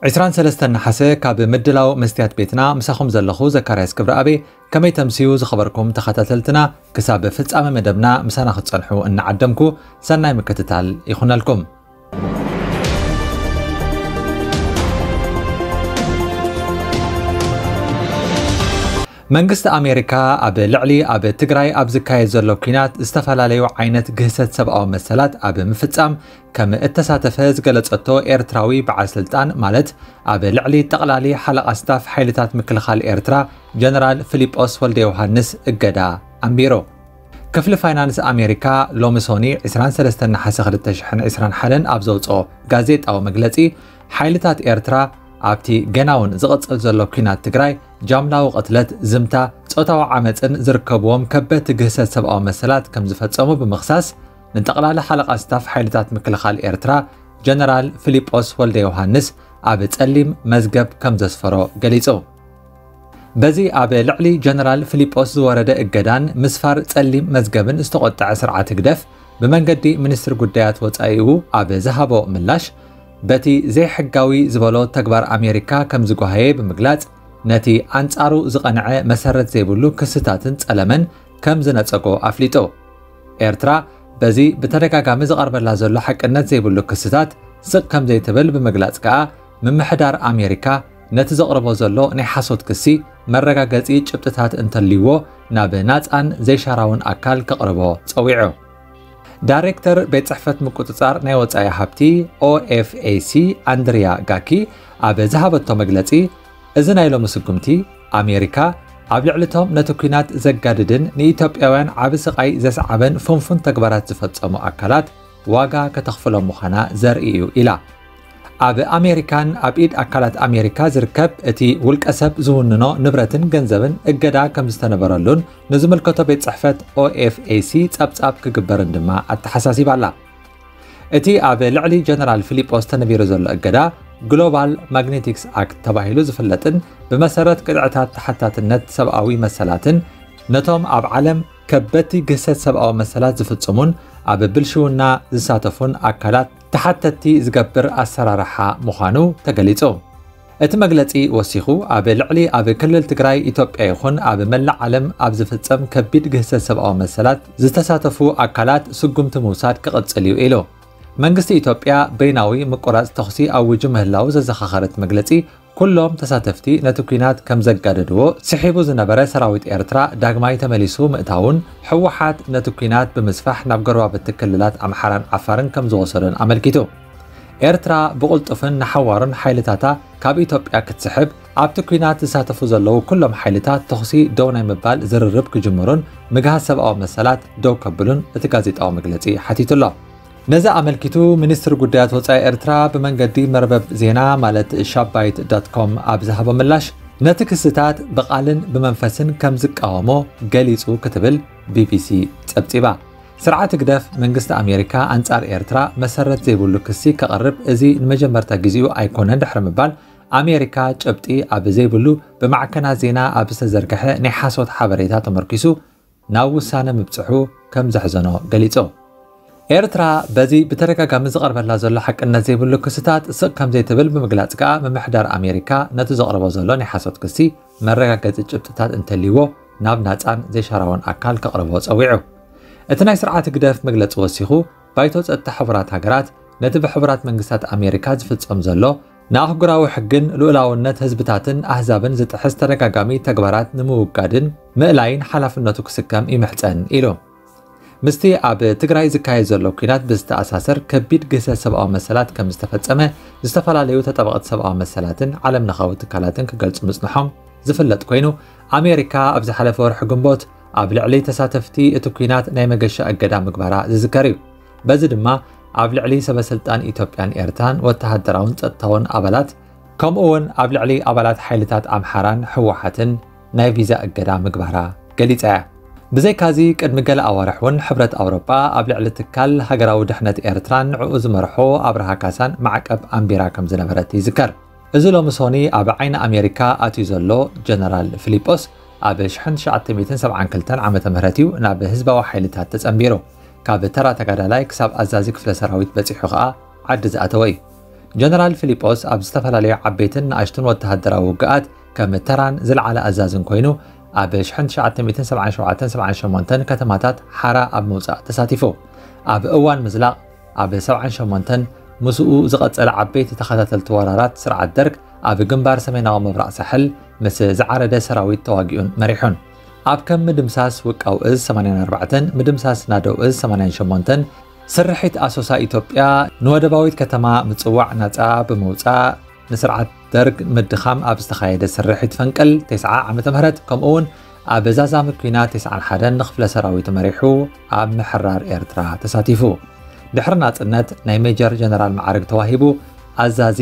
ዕስራን ሰለስተን ነሓሰ ካብ ምድላው መስትያት ቤትና ምሳኹም ዘለኹ ዘካርያስ ክብረኣቤ። ከመይ ተምስዩ ዝኸበርኩም ተኸታተልትና? ክሳብ ፍጻመ መደብና ምሳና ክትጸንሑ እናዓደምኩ፣ ሰናይ ምክትታል ይኹነልኩም። መንግስቲ ኣሜሪካ ኣብ ልዕሊ ኣብ ትግራይ ኣብ ዝካየድ ዘሎ ኲናት ዝተፈላለዩ ዓይነት ግህሰት ሰብኣዊ መሰላት ኣብ ምፍጻም ከም እተሳተፈ ዝገለጸቶ ኤርትራዊ በዓል ስልጣን፣ ማለት ኣብ ልዕሊ ጠቕላሊ ሓለቓ ስታፍ ሓይልታት ምክልኻል ኤርትራ ጀነራል ፊሊጶስ ወልደ ዮሃንስ እገዳ ኣንቢሩ። ክፍሊ ፋይናንስ ኣሜሪካ ሎሚ ሶኒ ዕስራን ሰለስተን ነሓሰ ክልተ ሽሕን ዕስራን ሓደን ኣብ ዘውፅኦ ጋዜጣዊ መግለፂ፣ ሓይልታት ኤርትራ ኣብቲ ገና እውን ዝቕፅል ዘሎ ኲናት ትግራይ ጃምላዊ ቅትለት፣ ዝምታ፣ ጾታዊ ዓመፅን ዝርከብዎም ከበድቲ ግህሰት ሰብኣዊ መሰላት ከም ዝፈጸሙ ብምኽሳስ፣ ንጠቕላሊ ሓለቓ ስታፍ ሓይልታት ምክልኻል ኤርትራ ጀነራል ፊሊጶስ ወልደ ዮሃንስ ኣብ ጸሊም መዝገብ ከም ዘስፈሮ ገሊጹ። በዚ ኣብ ልዕሊ ጀነራል ፊሊጶስ ዝወረደ እገዳን ምስፋር ጸሊም መዝገብን ዝተቖጥዐ ስርዓት ህግደፍ፣ ብመንገዲ ሚኒስትሪ ጉዳያት ወጻኢኡ ኣብ ዝሃቦ ምላሽ፣ በቲ ዘይሕጋዊ ዝበሎ ተግባር ኣሜሪካ ከም ዝጓሃየ ብምግላጽ፣ ነቲ ኣንጻሩ ዝቐንዐ መሰረት ዘይብሉ ክስታትን ጸለመን ከም ዝነጸጎ ኣፍሊጡ። ኤርትራ በዚ ብተደጋጋሚ ዝቐርበላ ዘሎ ሓቅነት ዘይብሉ ክስታት ስቕ ከም ዘይትብል ብምግላጽ ከኣ፣ ምምሕዳር ኣሜሪካ ነቲ ዘቕርቦ ዘሎ ናይ ሓሶት ክሲ መረጋገጺ ጭብጥታት እንተልይዎ፣ ናብ ናጻን ዘይሻራውን ኣካል ከቕርቦ ጸዊዑ። ዳይሬክተር ቤት ጽሕፈት ምቁጽጻር ናይ ወጻኢ ሃብቲ ኦኤፍኤሲ ኣንድሪያ ጋኪ ኣብ ዝሃበቶ መግለጺ፣ እዚ ናይ ሎሚ ስጉምቲ፣ ኣሜሪካ ኣብ ልዕሊቶም ነቲ ኲናት ዘጋድድን ንኢትዮጵያውያን ዓቢ ስቓይ ዘስዓበን ፍንፉን ተግባራት ዝፈጸሙ ኣካላት ዋጋ ከተኽፍሎም ምዃና ዘርኢ እዩ ኢላ። ኣብ ኣሜሪካን ኣብ ኢድ ኣካላት ኣሜሪካ ዝርከብ እቲ ውልቀ ሰብ ዝውንኖ ንብረትን ገንዘብን እገዳ ከም ዝተነበረሉን ንዝምልከቶ ቤት ጽሕፈት ኦኤፍኤሲ ጸብጻብ ክግበርን ድማ ኣተሓሳሲባ ኣላ። እቲ ኣብ ልዕሊ ጀነራል ፊሊጶስ ተነቢሩ ዘሎ እገዳ፣ ግሎባል ማግኔቲክስ ኣክት ተባሂሉ ዝፍለጥን ብመሰረት ቅጥዕታት ተሓታትነት ሰብኣዊ መሰላትን ነቶም ኣብ ዓለም ከበድቲ ግህሰት ሰብኣዊ መሰላት ዝፍጽሙን ኣብ ብልሽውና ዝሳተፉን ኣካላት ተሓተትቲ ዝገብር ኣሰራርሓ ምዃኑ ተገሊጹ። እቲ መግለጺ ወሲኹ፣ ኣብ ልዕሊ ኣብ ክልል ትግራይ፣ ኢትዮጵያ ይኹን ኣብ መላእ ዓለም ኣብ ዝፍጸም ከቢድ ግህሰት ሰብኣዊ መሰላት ዝተሳተፉ ኣካላት ስጉምቲ ምውሳድ ክቕጽል እዩ ኢሉ። መንግስቲ ኢትዮጵያ በይናዊ ምቁራጽ ተኹሲ ኣዊጁ ምህላዉ ዘዘኻኸረ እቲ መግለጺ፣ ኩሎም ተሳተፍቲ ነቲ ኲናት ከም ዘጋደድዎ ስሒቡ ዝነበረ ሰራዊት ኤርትራ ዳግማይ ተመሊሱ ምእታዉን፣ ህወሓት ነቲ ኲናት ብምስፋሕ ናብ ጎረባብቲ ክልላት ኣምሓራን ዓፋርን ከም ዝወሰዶን ኣመልኪቱ። ኤርትራ ብቕልጡፍን ንሓዋሩን ሓይልታታ ካብ ኢትዮጵያ ክትስሕብ፣ ኣብቲ ኲናት ዝሳተፉ ዘለዉ ኩሎም ሓይልታት ተኹሲ ደው ናይ ምባል ዝርርብ ክጅምሩን ምግሃስ ሰብኣዊ መሰላት ደው ከብሉን እቲ ጋዜጣዊ መግለጺ ሓቲቱ ኣሎ። ነዚ ኣመልኪቱ፣ ሚኒስትሪ ጉዳያት ወጻኢ ኤርትራ ብመንገዲ መርበብ ዜና ማለት ሻባይት ዳት ኮም ኣብ ዝሃቦ ምላሽ፣ ነቲ ክስታት ብቓልን ብመንፈስን ከም ዝቃወሞ ገሊጹ ክትብል ቢቢሲ ጸብጺባ። ስርዓት ህግደፍ መንግስቲ ኣሜሪካ ኣንጻር ኤርትራ መሰረት ዘይብሉ ክሲ ከቕርብ እዚ ንመጀመርታ ግዜኡ ኣይኮነን ድሕሪ ምባል፣ ኣሜሪካ ጭብጢ ኣብ ዘይብሉ ብማዕከናት ዜና ኣብ ዝተዘርግሐ ናይ ሓሶት ሓበሬታ ተመርኪሱ ናብ ውሳነ ምብጽሑ ከም ዘሕዘኖ ገሊጹ። ኤርትራ በዚ ብተደጋጋሚ ዝቐርበላ ዘሎ ሓቅነት ዘይብሉ ክስታት ስቕ ከም ዘይትብል ብምግላጽ ከኣ፣ ምምሕዳር ኣሜሪካ ነቲ ዘቕርቦ ዘሎ ናይ ሓሶት ክሲ መረጋገጺ ጭብጥታት እንተልይዎ ናብ ናጻን ዘይሻራውን ኣካል ከቕርቦ ጸዊዑ። እቲ ናይ ስርዓት ህግደፍ መግለጺ ወሲኹ፣ ባይቶ ጸጥታ ሕቡራት ሃገራት ነቲ ብሕቡራት መንግስታት ኣሜሪካ ዝፍጸም ዘሎ ንኣህጉራዊ ሕግን ልኡላውነት ህዝብታትን ኣህዛብን ዝጥሕስ ተደጋጋሚ ተግባራት ንምውጋድን ምእላይን ሓላፍነቱ ክስከም ይምሕጸን ኢሉ። ምስቲ ኣብ ትግራይ ዝካየድ ዘሎ ኲናት ብዝተኣሳሰር ከቢድ ግህሰት ሰብኣዊ መሰላት ከም ዝተፈጸመ ዝተፈላለዩ ተጣበቕቲ ሰብኣዊ መሰላትን ዓለም ለኻዊ ትካላትን ክገልጹ ምጽንሖም ዝፍለጥ ኮይኑ፣ ኣሜሪካ ኣብ ዝሓለፈ ወርሒ ግንቦት ኣብ ልዕሊ ተሳተፍቲ እቲ ኲናት ናይ መገሻ እገዳ ምግባራ ዝዝከር እዩ። በዚ ድማ ኣብ ልዕሊ ሰበስልጣን ኢትዮጵያን ኤርትራን ወተሃደራውን ጸጥታውን ኣባላት፣ ከምኡ እውን ኣብ ልዕሊ ኣባላት ሓይልታት ኣምሓራን ህወሓትን ናይ ቪዛ እገዳ ምግባራ ገሊጻ እያ። ብዘይካዚ፣ ቅድሚ ገለ ኣዋርሕ እውን ሕብረት ኣውሮጳ ኣብ ልዕሊ ትካል ሃገራዊ ድሕነት ኤርትራን ንዕኡ ዝመርሖ ኣብርሃ ካሳን ማዕቀብ ኣንቢራ ከም ዝነበረት ይዝከር። እዚ ሎሚ ሶኒ ኣብ ዓይኒ ኣሜሪካ ኣትዩ ዘሎ ጀነራል ፊሊጶስ፣ ኣብ ሽሕን ትሽዓተ ሚእትን ሰብዓን ክልተን ዓመተ ምህረት እዩ ናብ ህዝባዊ ሓይልታት ተጸንቢሩ። ካብ ተራ ተጋዳላይ ክሳብ ኣዛዚ ክፍለ ሰራዊት በጺሑ ከኣ ዓዲ ዝኣተወ እዩ። ጀነራል ፊሊጶስ ኣብ ዝተፈላለዩ ዓበይትን ንኣሽቱን ወተሃደራዊ ውግኣት ከም ተራን ዝለዓለ ኣዛዝን ኮይኑ፣ ኣብ ሽሕን ትሽዓተ ሚእትን ሰብዓን ሸውዓተን ሰብዓን ሸሞንተን ከተማታት ሓራ ኣብ ምውጻእ ተሳቲፉ። ኣብ እዋን ምዝላቕ ኣብ ሰብዓን ሸሞንተን ምስኡ ዝቐጸለ ዓበይቲ ተኸታተልቲ ወራራት ስርዓት ደርግ ኣብ ግንባር ሰሜናዊ ምብራቕ ሳሕል ምስ ዝዓረደ ሰራዊት ተዋጊኡን መሪሑን። ኣብ ከም ምድምሳስ ውቃው እዝ ሰማንያን ኣርባዕተን ምድምሳስ ናደው እዝ ሰማንያን ሸሞንተን ስርሒት ኣሶሳ ኢትዮጵያ ንወደባዊት ከተማ ምጽዋዕ ናጻ ብምውጻእ ንስርዓት ደርግ ምድኻም ኣብ ዝተኻየደ ስርሒት ፈንቅል ተስዓ ዓመተ ምህረት ከምኡ እውን ኣብ ዛዛሚ ኲናት ተስዓን ሓደን ንክፍለ ሰራዊት መሪሑ ኣብ ምሕራር ኤርትራ ተሳቲፉ። ድሕሪ ናጽነት ናይ ሜጀር ጀነራል ማዕረግ ተዋሂቡ ኣዛዚ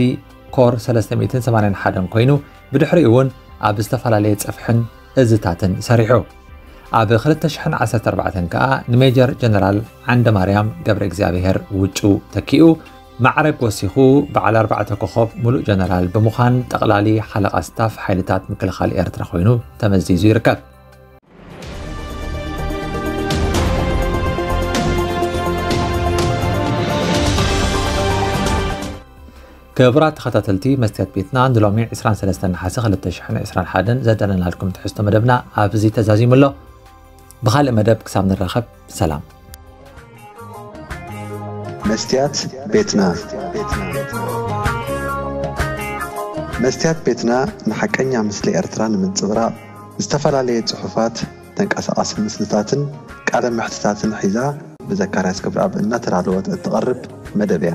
ኮር ሰለስተ ሚእትን ሰማንያን ሓደን ኮይኑ ብድሕሪኡ እውን ኣብ ዝተፈላለየ ጽፍሕን እዝታትን ሰሪሑ። ኣብ ክልተ ሽሕን ዓሰርተ ኣርባዕተን ከኣ ንሜጀር ጀነራል ዓንደ ማርያም ገብረ እግዚኣብሔር ውጩ ተኪኡ ማዕረግ ወሲኹ በዓል ኣርባዕተ ኮኸብ ሙሉእ ጀነራል ብምዃን ጠቕላሊ ሓለቓ ስታፍ ሓይልታት ምክልኻል ኤርትራ ኮይኑ ተመዚዙ ይርከብ። ክቡራት ተኸታተልቲ መስትያት ቤትና ንሎሚ ዕስራን ሰለስተን ነሓሰ ክልተ ሽሕን ዕስራን ሓደን ዘዳለናልኩም ትሕዝቶ መደብና ኣብዚ ተዛዚሙ ኣሎ። ብኻልእ መደብ ክሳብ ንራኸብ ሰላም። መስትያት ቤትና መስትያት ቤትና ንሓቀኛ ምስሊ ኤርትራ ንምንጽብራቕ ዝተፈላለየ ጽሑፋት፣ ተንቀሳቓሲ ምስልታትን ቃለ መሕትታትን ሒዛ ብዘካርያስ ክብረኣብ እናተዳለወት እትቐርብ መደብ እያ።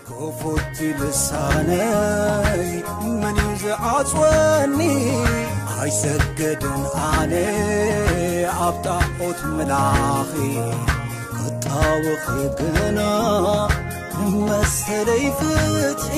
ክፉት ልሳነይ መን እዩ ዝዓጽወኒ? ኣይሰገድን ኣነ ኣብ ጣዖት ምላኺ ክጣወኺ ግና መሰለይ ፍትሒ